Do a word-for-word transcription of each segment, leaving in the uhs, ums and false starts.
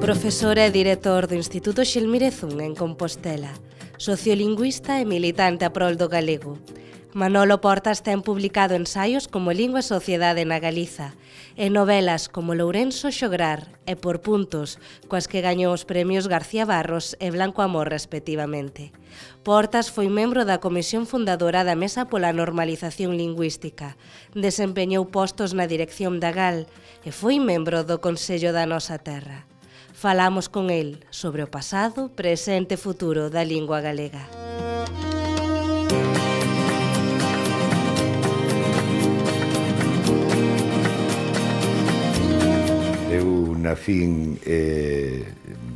Profesor e director do Instituto Xelmirezún en Compostela, sociolingüista e militante a prol do galego. Manolo Portas ten publicado ensaios como Lingua e Sociedade na Galiza e novelas como Lourenço Xograr e Por puntos, coas que gañou os premios García Barros e Blanco Amor respectivamente. Portas foi membro da comisión fundadora da Mesa pola Normalización Lingüística, desempeñou postos na dirección da G A L e foi membro do Consello da Nosa Terra. Falamos con el sobre o pasado, presente e futuro da lingua galega. Eu nacín eh,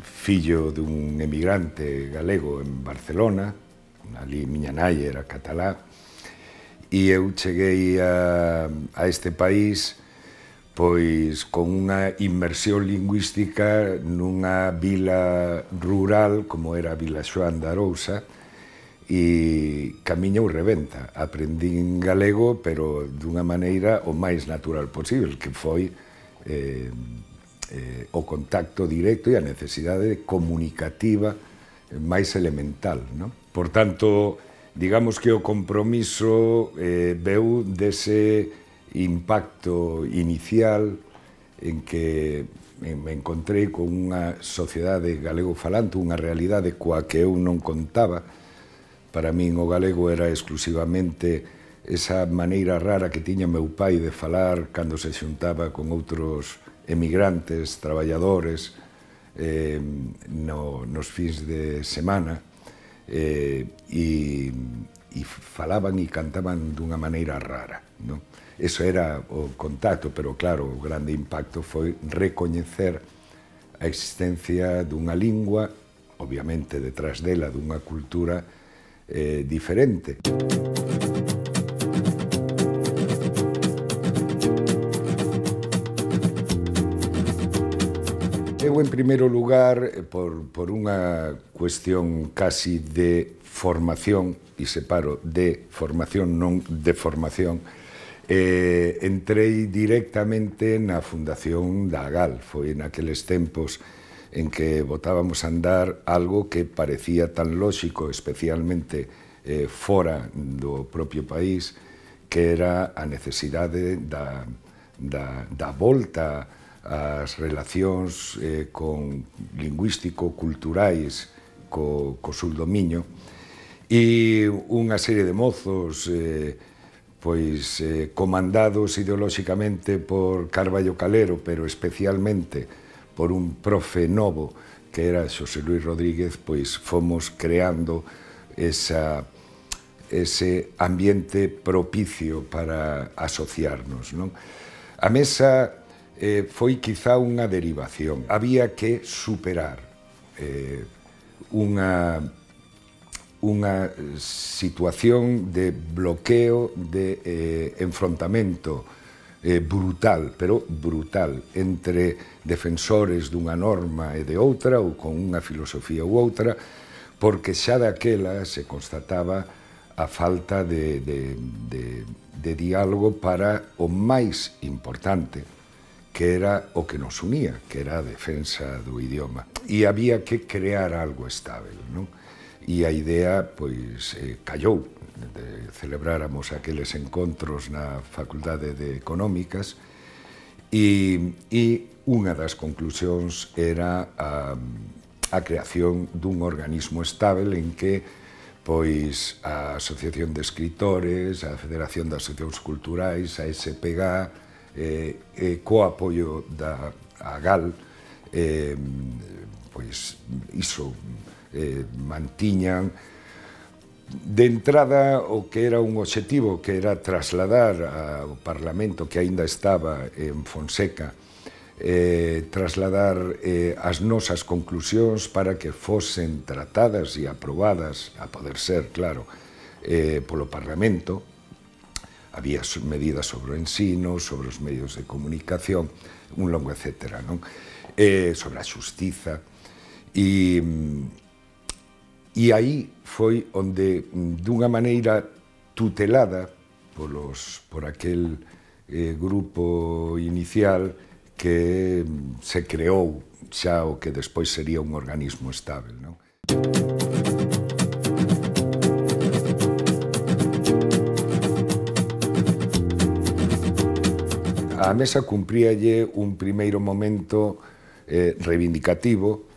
fillo dun emigrante galego en Barcelona, ali miña nai era catalá, e eu cheguei a, a este país pois con unha inmersión lingüística nunha vila rural como era a Vila Xoán de Arousa, e camiñou rebenta. Aprendín galego, pero dunha maneira o máis natural posible, que foi eh, eh, o contacto directo e a necesidade comunicativa máis elemental, non? Por tanto, digamos que o compromiso eh, veu dese impacto inicial en que me encontrei con unha sociedade galego-falante, unha realidade coa que eu non contaba. Para min o galego era exclusivamente esa maneira rara que tiña meu pai de falar cando se xuntaba con outros emigrantes, traballadores, eh, no, nos fins de semana, eh, e, e falaban e cantaban dunha maneira rara, non? Eso era o contacto, pero claro, o grande impacto foi recoñecer a existencia dunha lingua, obviamente detrás dela dunha cultura eh, diferente. Eu, en primeiro lugar, por, por unha cuestión casi de formación, e separo de formación, non de formación, Eh, entrei directamente na fundación da G A L. Foi naqueles tempos en que botábamos a andar algo que parecía tan lóxico, especialmente eh, fora do propio país, que era a necesidade da, da, da volta ás relacións eh, con lingüístico-culturais co, co sul do Miño, e unha serie de mozos eh, pois eh, comandados ideolóxicamente por Carballo Calero, pero especialmente por un profe novo que era Xosé Luis Rodríguez, pois fomos creando esa, ese ambiente propicio para asociarnos, non? A mesa eh, foi quizá unha derivación. Había que superar eh, unha unha situación de bloqueo, de eh, enfrontamento eh, brutal, pero brutal, entre defensores dunha norma e de outra, ou con unha filosofía ou outra, porque xa daquela se constataba a falta de, de, de, de diálogo para o máis importante, que era o que nos unía, que era a defensa do idioma. E había que crear algo estável, non? E a idea, pois, eh, callou. De, celebráramos aqueles encontros na Facultade de Económicas e, e unha das conclusións era a, a creación dun organismo estável en que, pois, a Asociación de Escritores, a Federación de Asociacións Culturais, a S P G A, eh, eh, co apoio da a G A L, eh, pois, iso, Eh, mantiñan de entrada o que era un obxectivo, que era trasladar ao Parlamento, que aínda estaba en Fonseca, eh, trasladar eh, as nosas conclusións para que fosen tratadas e aprobadas, a poder ser, claro, eh, polo Parlamento. Había medidas sobre o ensino, sobre os medios de comunicación, un longo etcétera, non? Eh, sobre a xustiza. E E aí foi onde, dunha maneira tutelada polos, por aquel eh, grupo inicial, que se creou xa o que despois sería un organismo estável, non? A Mesa cumpríalle un primeiro momento eh, reivindicativo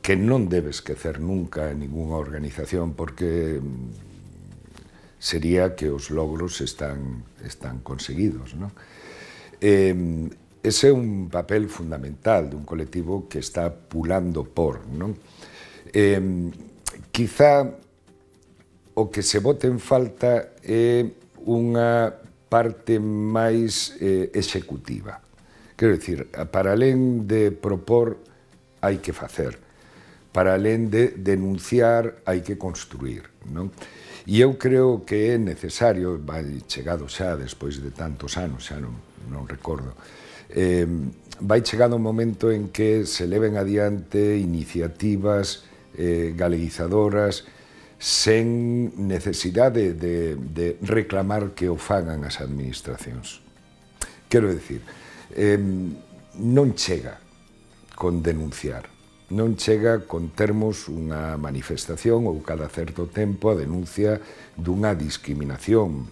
que non debe esquecer nunca en ninguna organización, porque sería que os logros están, están conseguidos, non? Eh, ese é un papel fundamental dun colectivo que está pulando por, non? Eh, quizá o que se bote en falta é unha parte máis eh, executiva. Quero dicir, para alén de propor, hai que facer. Para alén de denunciar, hai que construir, non? E eu creo que é necesario, vai chegado xa despois de tantos anos, xa non, non recordo, eh, vai chegado un momento en que se leven adiante iniciativas eh, galeguizadoras sen necesidade de, de reclamar que o fagan as administracións. Quero dicir, eh, non chega con denunciar, non chega con termos unha manifestación ou cada certo tempo a denuncia dunha discriminación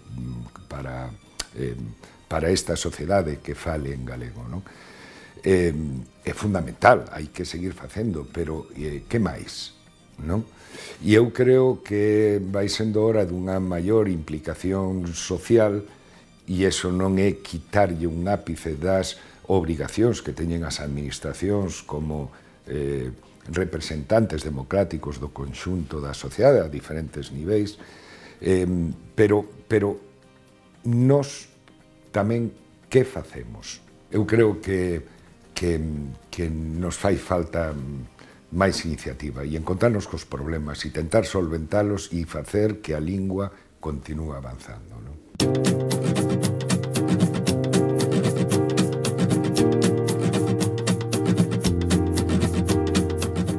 para, eh, para esta sociedade que fale en galego, non? Eh, é fundamental, hai que seguir facendo, pero eh, que máis, non? E eu creo que vai sendo hora dunha maior implicación social, e iso non é quitarlle un ápice das obrigacións que teñen as administracións como eh, representantes democráticos do conxunto da sociedade a diferentes niveis, eh, pero, pero nós tamén que facemos? Eu creo que, que, que nos fai falta máis iniciativa e encontrarnos cos problemas e tentar solventalos e facer que a lingua continúe avanzando, non?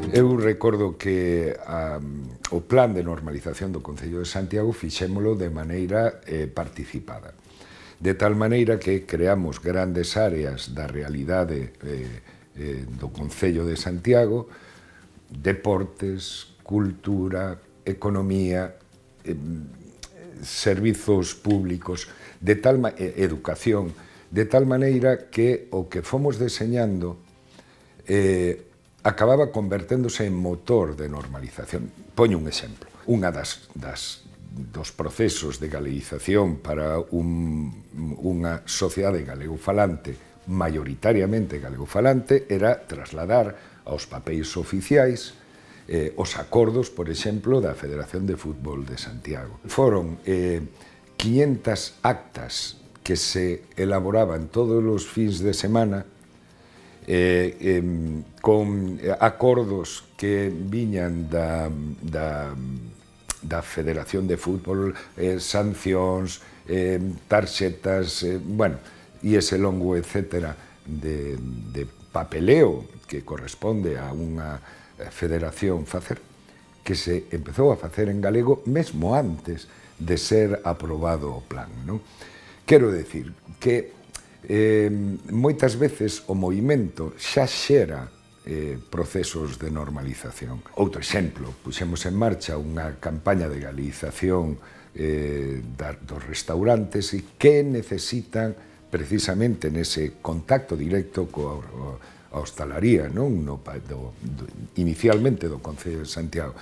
Eu recordo que a, o plan de normalización do Concello de Santiago fixémolo de maneira eh, participada. De tal maneira que creamos grandes áreas da realidade eh, eh, do Concello de Santiago, deportes, cultura, economía, eh, servizos públicos, de tal eh, educación, de tal maneira que o que fomos deseñando eh, acababa converténdose en motor de normalización. Poño un exemplo. Unha das, das, dos procesos de galeguización para un, unha sociedade galegofalante, maioritariamente galegofalante, era trasladar aos papéis oficiais eh, os acordos, por exemplo, da Federación de Fútbol de Santiago. Foron eh, quinhentas actas que se elaboraban todos os fins de semana eh, eh, con acordos que viñan da, da, da Federación de Fútbol, eh, sancións, eh, tarxetas, eh, bueno, e ese longo etcétera de, de papeleo que corresponde a unha federación facer, que se empezou a facer en galego mesmo antes de ser aprobado o plan, non? Quero decir que eh, moitas veces o movimento xa xera eh, procesos de normalización. Outro exemplo, puxemos en marcha unha campaña de galeguización eh, da, dos restaurantes e que necesitan precisamente nese contacto directo coa a hostalaría, non? No, do, do, inicialmente do Concello de Santiago.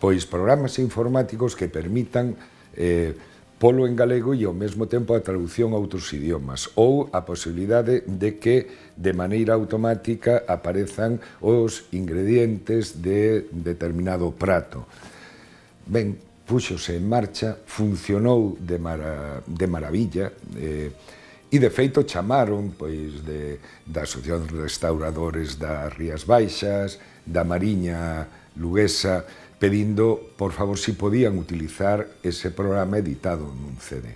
Pois programas informáticos que permitan eh, polo en galego e ao mesmo tempo a traducción a outros idiomas, ou a posibilidade de que de maneira automática aparezan os ingredientes de determinado prato. Ben, púxose en marcha, funcionou de, mara, de maravilla, eh, e, de feito, chamaron pois, de, da Asociación de Restauradores das Rías Baixas, da Mariña Luguesa, pedindo, por favor, si podían utilizar ese programa editado nun C D.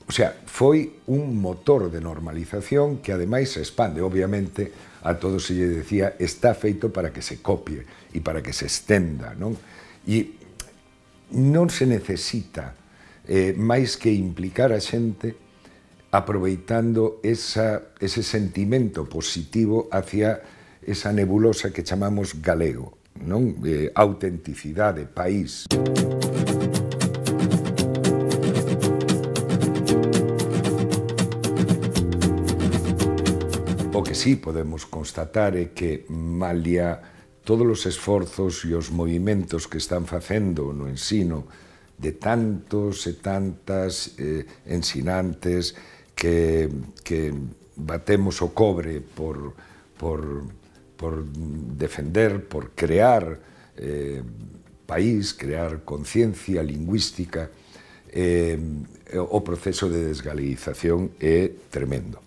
O sea, foi un motor de normalización que, ademais, se expande. Obviamente, a todos se lle decía, está feito para que se copie e para que se estenda, non? E non se necesita eh, máis que implicar a xente aproveitando esa, ese sentimento positivo hacia esa nebulosa que chamamos galego, non? Eh, autenticidade, país. O que sí podemos constatar é que, malia todos os esforzos e os movimentos que están facendo no ensino de tantos e tantas eh, ensinantes que, que batemos o cobre por, por, por defender, por crear eh, país, crear conciencia lingüística, eh, o proceso de desgaleización é tremendo.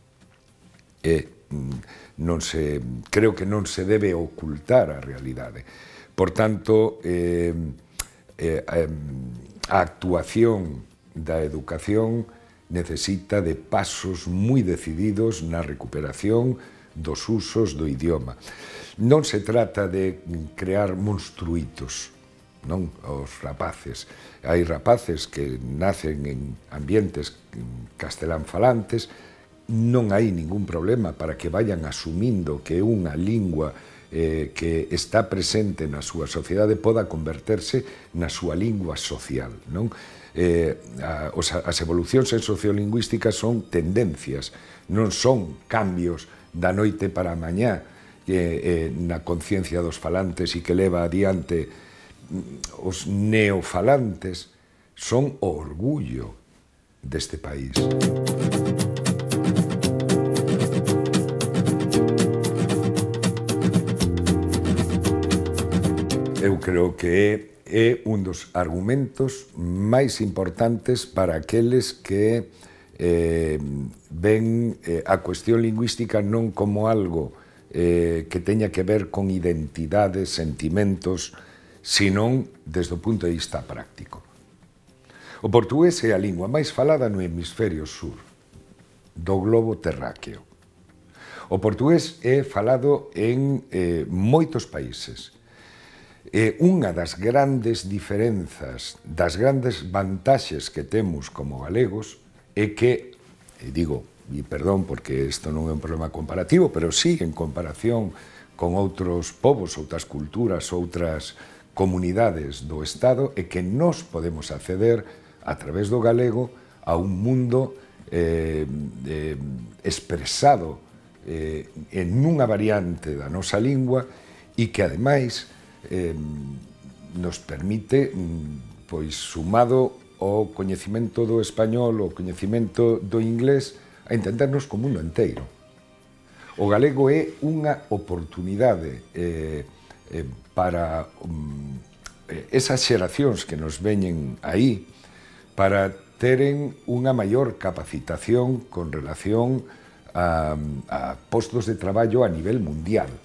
É non se, creo que non se debe ocultar a realidade. Por tanto, eh, eh, a actuación da educación necesita de pasos moi decididos na recuperación dos usos do idioma. Non se trata de crear monstruitos, non? Os rapaces. Hai rapaces que nacen en ambientes castelán falantes, non hai ningún problema para que vayan asumindo que unha lingua eh, que está presente na súa sociedade poda converterse na súa lingua social, non? Eh, a, os, as evolucións en sociolingüística son tendencias, non son cambios da noite para a mañá eh, eh, na conciencia dos falantes e que leva adiante os neofalantes, son o orgullo deste país. Eu creo que é un dos argumentos máis importantes para aqueles que eh, ven eh, a cuestión lingüística non como algo eh, que teña que ver con identidades, sentimentos, senón desde o punto de vista práctico. O portugués é a lingua máis falada no hemisferio sur do globo terráqueo. O portugués é falado en eh, moitos países. E unha das grandes diferenzas, das grandes vantaxes que temos como galegos é que, e digo, e perdón porque isto non é un problema comparativo, pero sí en comparación con outros povos, outras culturas, outras comunidades do Estado, é que nós podemos acceder a través do galego a un mundo eh, eh, expresado eh, en unha variante da nosa lingua e que, ademais, Eh, nos permite, pois, sumado ao coñecimento do español, ao coñecimento do inglés, a entendernos co mundo inteiro. O galego é unha oportunidade eh, eh, para um, esas xeracións que nos veñen aí para teren unha maior capacitación con relación a, a postos de traballo a nivel mundial.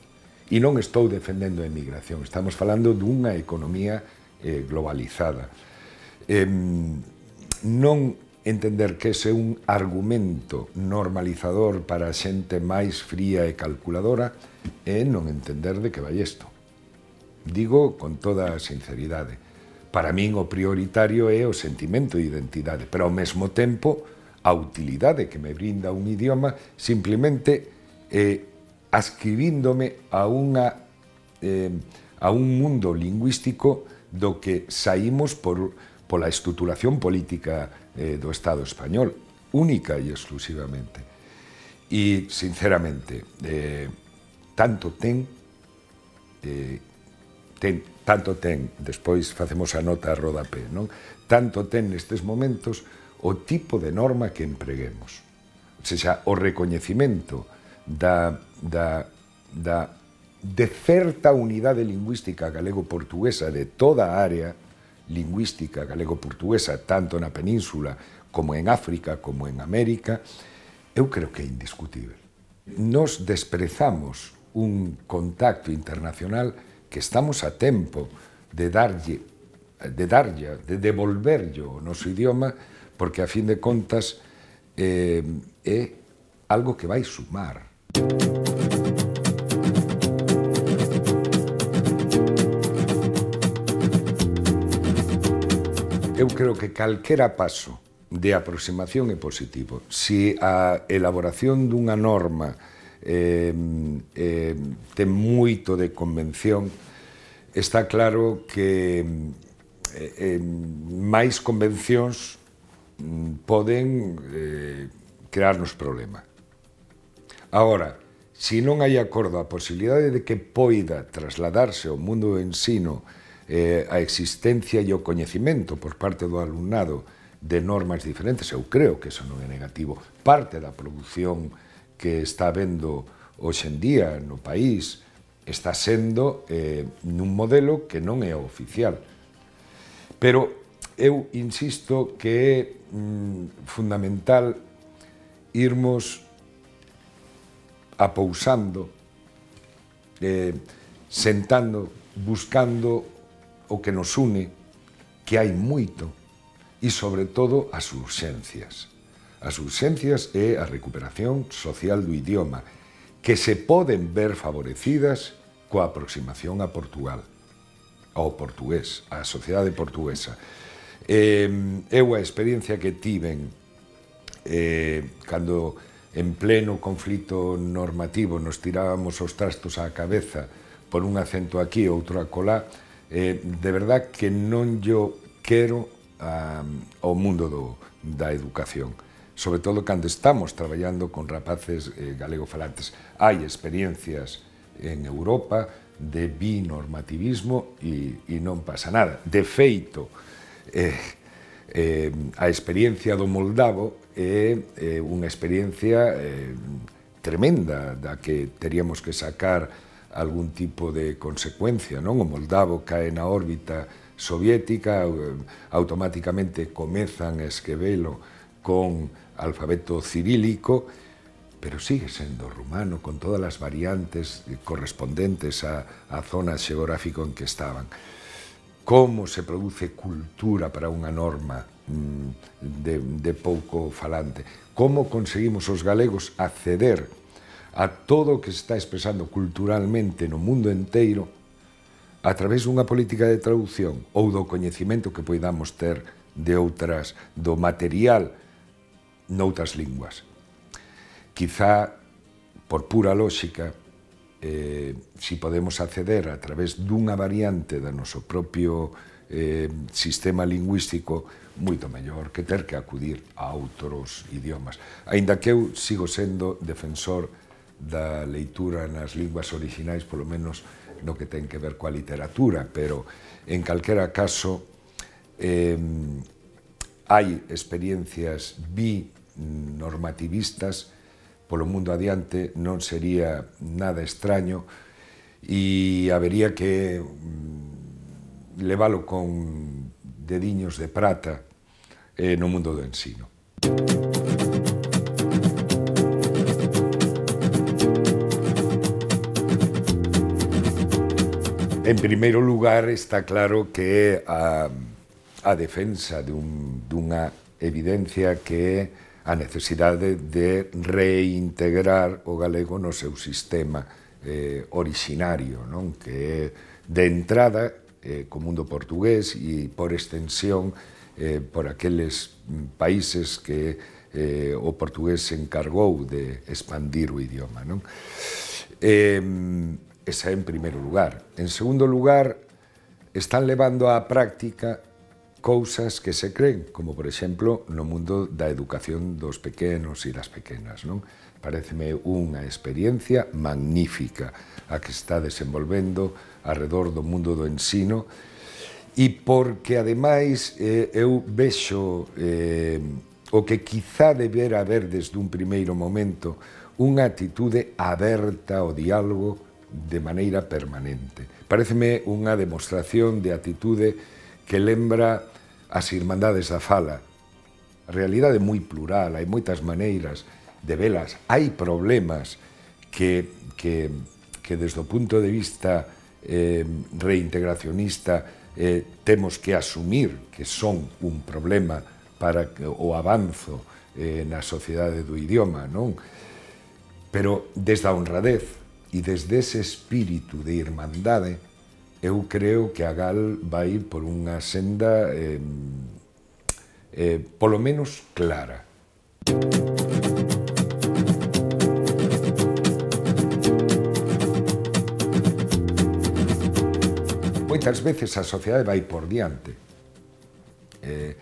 E non estou defendendo a emigración, estamos falando dunha economía eh, globalizada. Eh, non entender que ese é un argumento normalizador para a xente máis fría e calculadora é non entender de que vai isto. Digo con toda a sinceridade. Para min o prioritario é o sentimento de identidade, pero ao mesmo tempo a utilidade que me brinda un idioma simplemente é ascribíndome a, unha, eh, a un mundo lingüístico do que saímos por, pola estruturación política eh, do Estado español, única e exclusivamente. E, sinceramente, eh, tanto ten, eh, ten, tanto ten, despois facemos a nota a rodapé, non? Tanto ten nestes momentos o tipo de norma que empreguemos. O sea, o recoñecimento da, da, da, de certa unidade lingüística galego-portuguesa de toda a área lingüística galego-portuguesa, tanto na península como en África, como en América, eu creo que é indiscutible. Nos desprezamos un contacto internacional que estamos a tempo de darlle, de darlle, de devolverlle o noso idioma, porque a fin de contas eh, é algo que vai sumar. Eu creo que calquera paso de aproximación é positivo. Si a elaboración dunha norma eh, eh, ten moito de convención, está claro que eh, eh, máis convencións poden eh, crearnos problema. Agora, se non hai acordo a posibilidade de que poida trasladarse ao mundo do ensino eh, a existencia e o coñecimento por parte do alumnado de normas diferentes, eu creo que eso non é negativo. Parte da produción que está habendo hoxe en día no país está sendo eh, nun modelo que non é oficial. Pero eu insisto que é mm, fundamental irmos apousando, eh, sentando, buscando o que nos une, que hai moito, e, sobre todo, as urxencias. As urxencias é a recuperación social do idioma, que se poden ver favorecidas coa aproximación a Portugal, ao portugués, á sociedade portuguesa. Eh, eu a experiencia que tiven eh, cando en pleno conflito normativo nos tirábamos os trastos á cabeza por un acento aquí e outro acolá, eh, de verdad que non yo quero a, ao mundo do, da educación, sobre todo cando estamos traballando con rapaces eh, galegofalantes. Hai experiencias en Europa de binormativismo e, e non pasa nada. De feito, eh, eh, a experiencia do moldavo é eh, unha experiencia eh, tremenda da que teríamos que sacar algún tipo de consecuencia, non? O moldavo cae na órbita soviética, automáticamente comezan a escrevelo con alfabeto cirílico, pero sigue sendo rumano, con todas as variantes correspondentes á, á zona xeográfica en que estaban. Como se produce cultura para unha norma mm, de, de pouco falante? Como conseguimos os galegos acceder a todo o que se está expresando culturalmente no mundo enteiro a través dunha política de traducción ou do coñecemento que poidamos ter de outras, do material noutras linguas. Quizá, por pura lógica, eh, si podemos acceder a través dunha variante do noso propio eh, sistema lingüístico, moito mellor que ter que acudir a outros idiomas. Aínda que eu sigo sendo defensor da leitura nas linguas orixinais, polo menos no que ten que ver coa literatura, pero en calquera caso eh, hai experiencias binormativistas polo mundo adiante, non sería nada extraño e habería que mm, leválo con dediños de prata eh, no mundo do ensino. En primeiro lugar, está claro que a, a defensa dun, dunha evidencia que é a necesidade de reintegrar o galego no seu sistema eh, orixinario, non? Que é de entrada eh, co mundo portugués e, por extensión, eh, por aqueles países que eh, o portugués se encargou de expandir o idioma, non? Eh, Esa en primeiro lugar. En segundo lugar, están levando á práctica cousas que se creen, como, por exemplo, no mundo da educación dos pequenos e das pequenas, non? Paréceme unha experiencia magnífica a que está desenvolvendo arredor do mundo do ensino e porque, ademais, eh, eu vexo eh, o que quizá debera haber desde un primeiro momento unha actitude aberta ao diálogo de maneira permanente. Paréceme unha demostración de actitude que lembra as Irmandades da Fala. A realidade é moi plural, hai moitas maneiras de velas. Hai problemas que, que, que desde o punto de vista eh, reintegracionista eh, temos que asumir que son un problema para o avanzo eh, na sociedade do idioma, non? Pero desde a honradez e desde ese espírito de irmandade, eu creo que a Gal vai por unha senda eh, eh, polo menos clara. Moitas veces a sociedade vai por diante. Eh,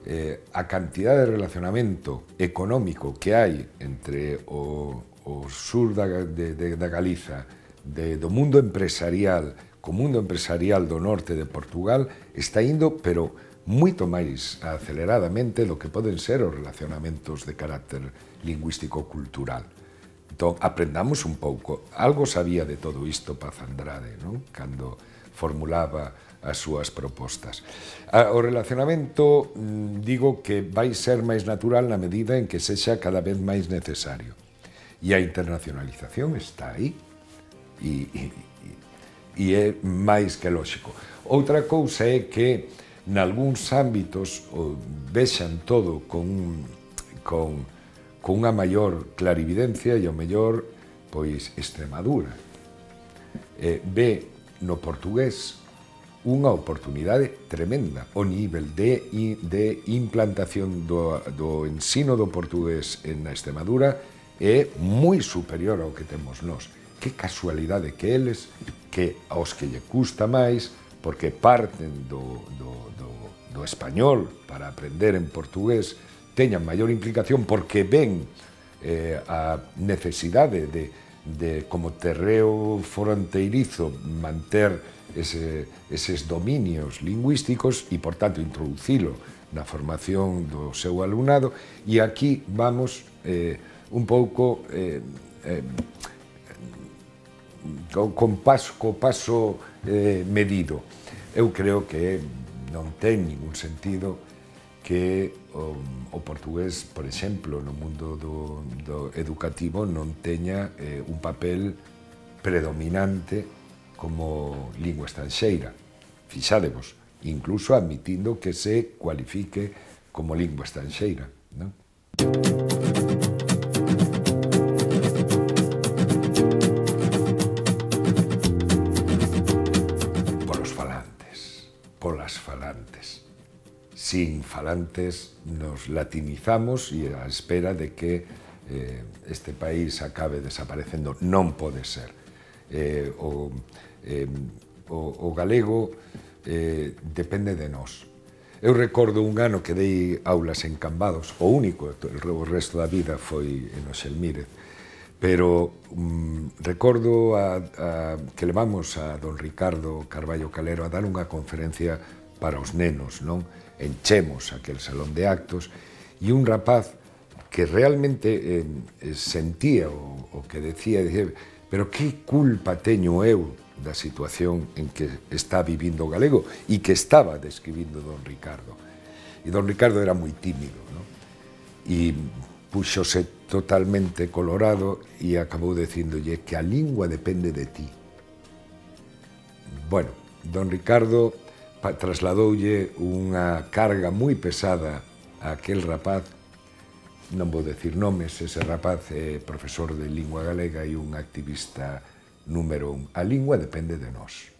eh, a cantidade de relacionamento económico que hai entre o, o sur da, de, de, da Galiza, de, do mundo empresarial, co mundo empresarial do norte de Portugal, está indo, pero moito máis aceleradamente do que poden ser os relacionamentos de carácter lingüístico-cultural. Entón, aprendamos un pouco. Algo sabía de todo isto Paz Andrade, non? Cando formulaba as súas propostas. O relacionamento, digo que vai ser máis natural na medida en que sexa cada vez máis necesario. E a internacionalización está aí. E, e, e é máis que lóxico. Outra cousa é que nalgúns ámbitos vexan todo con, con, con unha maior clarividencia e ao mellor, pois, Extremadura. Eh, ve no portugués unha oportunidade tremenda. O nivel de, de implantación do, do ensino do portugués en Extremadura é moi superior ao que temos nós. Que casualidade que eles, que aos que lle custa máis, porque parten do, do, do, do español para aprender en portugués, teñan maior implicación porque ven eh, a necesidade de, de, como terreo fronteirizo, manter ese, eses dominios lingüísticos e, por tanto, introducilo na formación do seu alumnado. E aquí vamos eh, un pouco eh, eh, con paso, co paso eh, medido. Eu creo que non ten ningún sentido que o, o portugués, por exemplo, no mundo do, do educativo non teña eh, un papel predominante como lingua estranxeira. Fixádevos, incluso admitindo que se cualifique como lingua estranxeira, non? Polos falantes, polas falantes. Sin falantes nos latinizamos e a espera de que eh, este país acabe desaparecendo. Non pode ser. Eh, o, eh, o, o galego eh, depende de nós. Eu recordo un ano que dei aulas en Cambados, o único, o resto da vida foi en Oxelmírez, pero um, recordo a, a, que levamos a don Ricardo Carballo Calero a dar unha conferencia para os nenos, non? Enchemos aquel salón de actos e un rapaz que realmente eh, sentía o, o que decía, decía, pero que culpa teño eu da situación en que está vivindo o galego e que estaba describindo don Ricardo. E don Ricardo era moi tímido, non? E puxose totalmente colorado e acabou dicindolle que a lingua depende de ti. Bueno, don Ricardo trasladoulle unha carga moi pesada a aquel rapaz, non vou decir nomes, ese rapaz é profesor de lingua galega e un activista número un. A lingua depende de nós.